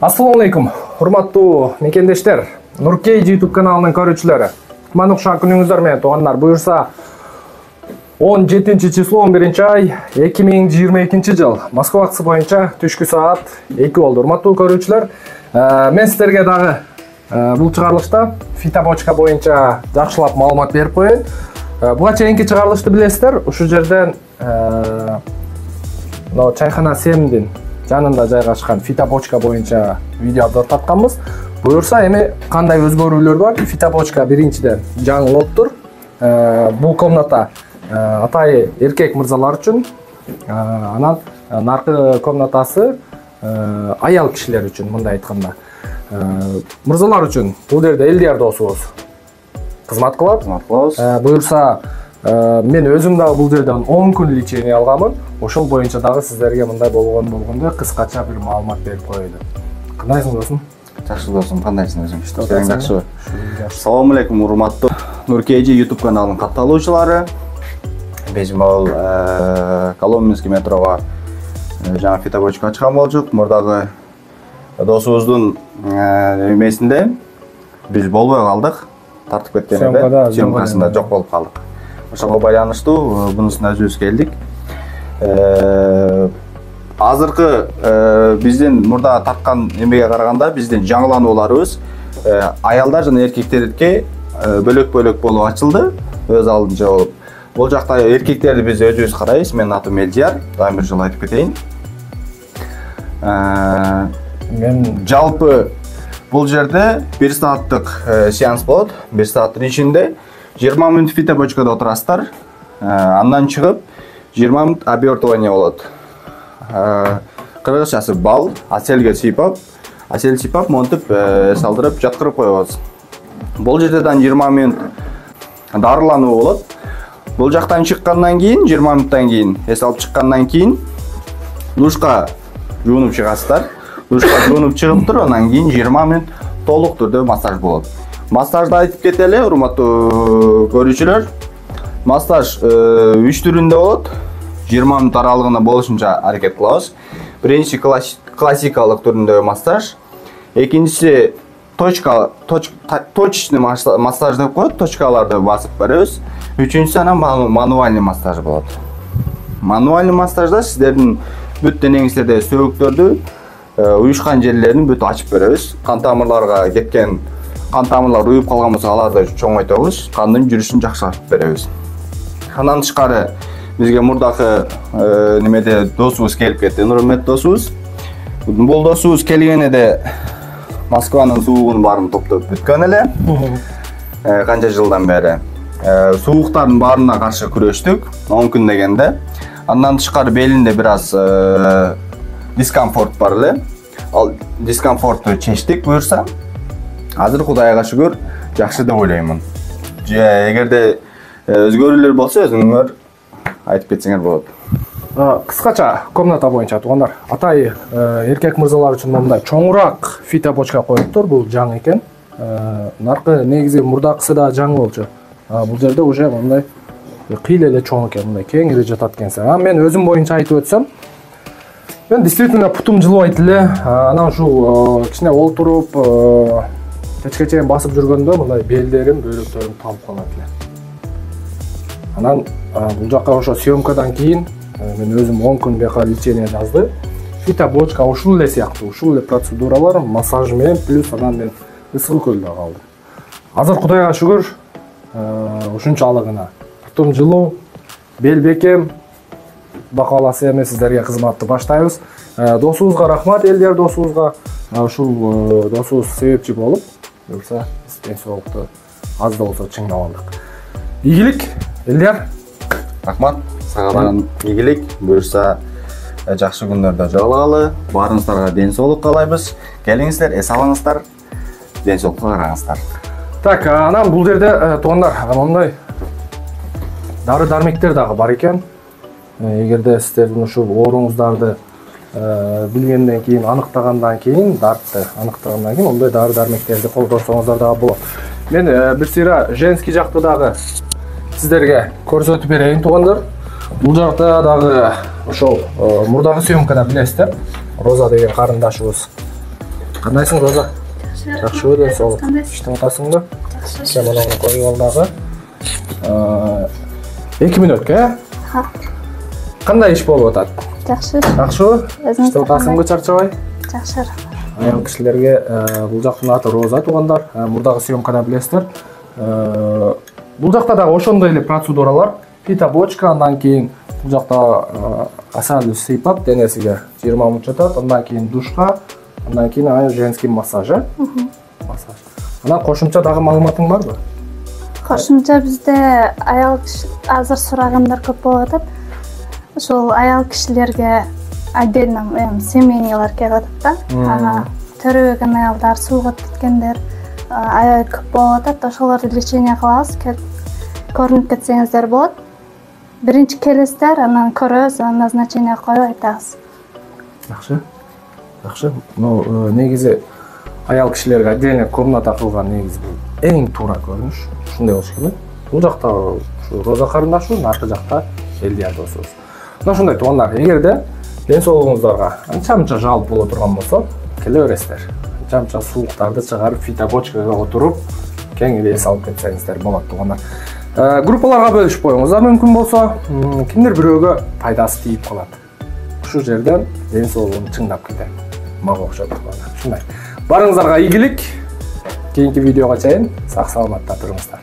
Assalamu alaikum, урматтуу мекендештер, Нуркей YouTube каналынын көрүүчүлөрү. Кутмандуу күнүңүздөр менен туугандар. Буюрса 17 число 11-ай 2022 жыл Москва вакыты боюнча түшкү саат 2 болду. Урматтуу көрүүчүлөр, мен сиздерге дагы бул чыгарылышта фитобочка боюнча жакшылап маалымат берип коеюн. Буга чейинки чыгарылышты билесиздер, ушул жерден чайхана 7-дин жанында жайгашкан фитобочка боюнча видео обзор тартканбыз. Буюрса эми кандай өзгөрүүлөр бар? Фитобочка биринчиден жаңылыптыр. Бул комната атайы эркек мырзалар үчүн, анан наркы комнатасы аял кишилер үчүн, мындай айтканда. Мырзалар үчүн бул жерде Элдияр досубуз кызмат кылат. Буюрса мен өзүм дагы бул жерден 10 күн лечение алганмын. Ошол боюнча дагы сиздерге мындай болгондой кыскача бир маалымат берип коелу. Кандайсың досум? Жакшы досум, кандайсың өзүң? Иштериң жакшыбы? Assalamu alaikum, урматтуу Нуркей YouTube каналынын катталуучулары. Биз могул Коломенский метрого жаңы фитобочка ачкан болчук. Мурдагы досубуздун эмесинде биз болбой калдык. Тартып кеткенде съемкасында жок болуп калдык. Ошого байланыштуу бунусуна өзүбүз келдик. Азыркы биздин мурда тарткан эмеге караганда биздин жаңыланууларыбыз аялдар жана эркектерге бөлөк-бөлөк болуп ачылды, өз алдынча болуп. Бул жакта эркектерди биз өзүбүз карайбыз. Менин атым Элдияр, дайым бир жолу айтып кетейин. Мен жалпы бул жерде 1 сааттык сеанс болот. 1 сааттын ичинде 20 мүнөт фитобочкада отурасыздар. Андан чыгып 20 мүнөт обертывание болот. Кыргызчасы бал, аселге сыйпап, монтип салдырып жаткырып коебуз. Бул жерден 20 мүнөт дарылануу болот. Бул жактан чыккандан кийин 20 мүнөттөн кийин эс алып чыккандан кийин душка жуунуп чыгасыздар. Душка жуунуп чыгыптыр, андан кийин 20 мүнөт толук түрдө массаж болот. Массажды айтып кетели, урматтуу көрүүчүлөр. Массаж 3 түрүндө болот. 20 мүнөт аралыгында болушунча аракет кылабыз. Биринчи классикалык түрүндөгү массаж, экинчиси точечный массаж деп коет, точкаларды басып беребиз. Үчүнчүсү анан мануальный массаж болот. Мануальный массажда сиздердин бүт денеңиздеги сөөктөрдү, уюшкан жерлерин бүт ачып беребиз. Кан тамырларга кеткен кан тамырлар уюп калган болсо аларды чоңойтобуз, кандын жүрүшүн жакшыртып беребиз. Андан тышкары бизге мурдакы немеде досубуз келип кетти, Нурмет досубуз. Бул досубуз келгенде Москванын суугун баарын топтоп бүткөн эле. Канча жылдан бери сууктардын баарына каршы күрөштүк, 10 күн дегенде. Андан тышкары белинде бир аз дискомфорт бар эле. Ал дискомфортту чечтик буюрса. Азыр Кудайга шүгүр жакшы деп ойлоймун. Эгерде өзгөрүүлөр болсо өзүңөр айтып кетсеңер болот. Кыскача комната боюнча туугандар, атайы эркек мырзалар үчүн мындай чоңураак фитобочка коюптур. Бул жаңы экен. Наркы негизи мурдакысы да жаңы болчу. Бул жерде уже мындай кыйла эле чоң экен, мындай кеңири жатат экенсиң. Мен өзүм боюнча айтып өтсөм, мен действительно путум жылыбайт эле. Анан ушул кичине олтуруп кечке чейин басып жүргөндө мындай белдерим, бөйрөктөрүм талып калат эле. Анан бул жакка ошо съемкадан кийин мен өзүм 10 күн бияка лечение жазды. Фитобочка ушул эле сыяктуу, ушул эле процедуралар, массаж менен плюс анан мен ысык көлдө калдым. Азыр Кудайга шүгүр, ушунчалыгына путум жылуу, бел бекем, бакаласы эме сиздерге кызматты баштайбыз. Досубузга рахмат, Элдияр досубузга. Ушул досубуз себепчи болуп, буюрса ден соолукту аз да болсо чыңдап алдык. Ийгилик, Элдияр. Рахмат. Сага дагы ийгилик. Буюрса жакшы күндөрдө жолугалы. Баарыңыздарга ден соолук каалайбыз. Келиңиздер, эс алыңыздар. Ден соолукка караңыздар. Так, анан бул жерде туугандар, мындай дары-дармектер дагы бар экен. Эгерде сиздердин ушул ооруңуздарды билгенден кийин, аныктагандан кийин, дартты аныктагандан кийин ондай дары-дармектерди колдонсоңуздар дагы болот. Мен бир сыйра женский жакты дагы сиздерге көрсөтүп берейин туугандар. Бул жакта дагы ошол мурдагы съемкада билесиздер, Роза деген карындашыбыз Кандайсың, Роза? Жакшы ден соолук. Иштеп атасыңбы? Сен мына коюп ал дагы. 2 мүнөткө, Кандай иш болуп атат? Жакшы. Жакшыбы? Иштеп атасыңбы, чарчабай? Жакшы. Аял кишилерге бул жактын аты Роза, туугандар. Мурдагы съемкада билесиздер. Бул жакта дагы ошондой эле процедуралар. Фитобочка, андан кийин бул жакта асалды сыйпап денесиге 20 мүнөт жатат, андан кийин душка, андан кийин женский массаж. Массаж. Анан кошумча дагы маалыматың барбы? Кошумча бизде аял азыр сурагандар көп болуп атат. Ошол аял кишилерге отдельно семейныйлар келип атат да. Төрөбөгөн аялдар, сууга кеткендер аябай көп болуп атат. Ошолорду лечение кылабыз. Көрүнүп кетсеңиздер болот. Биринчи келесиздер, анан көрөбүз, назначение коюп айтабыз. Жакшы. Жакшы. Негизи аял кишилерге отдельно комната кылган негизи бул эң туура көрүнүш. Ушундай болуш керек. Бул жакта ушу Роза карындашыбыз, наркы жакта Элдияр досубуз. Мына ушундай туугандар, эгерде ден соолугуңуздарга анча-мынча жалп боло турган болсо, келе бересиздер. Анча-мынча сууктарды чыгарып, фитобочкага отуруп, кеңири эс алып кетсеңиздер болот туугандар. Группаларга бөлүшүп коюңуздар мүмкүн болсо, кимдир бирөөгө пайдасы тийип калат. Ушул жерден ден соолугун чыңдап кетет. Мага окшоп туугандар. Ушундай. Барыңыздарга ийгилик. Кийинки видеого чейин сак саламатта туруңуздар.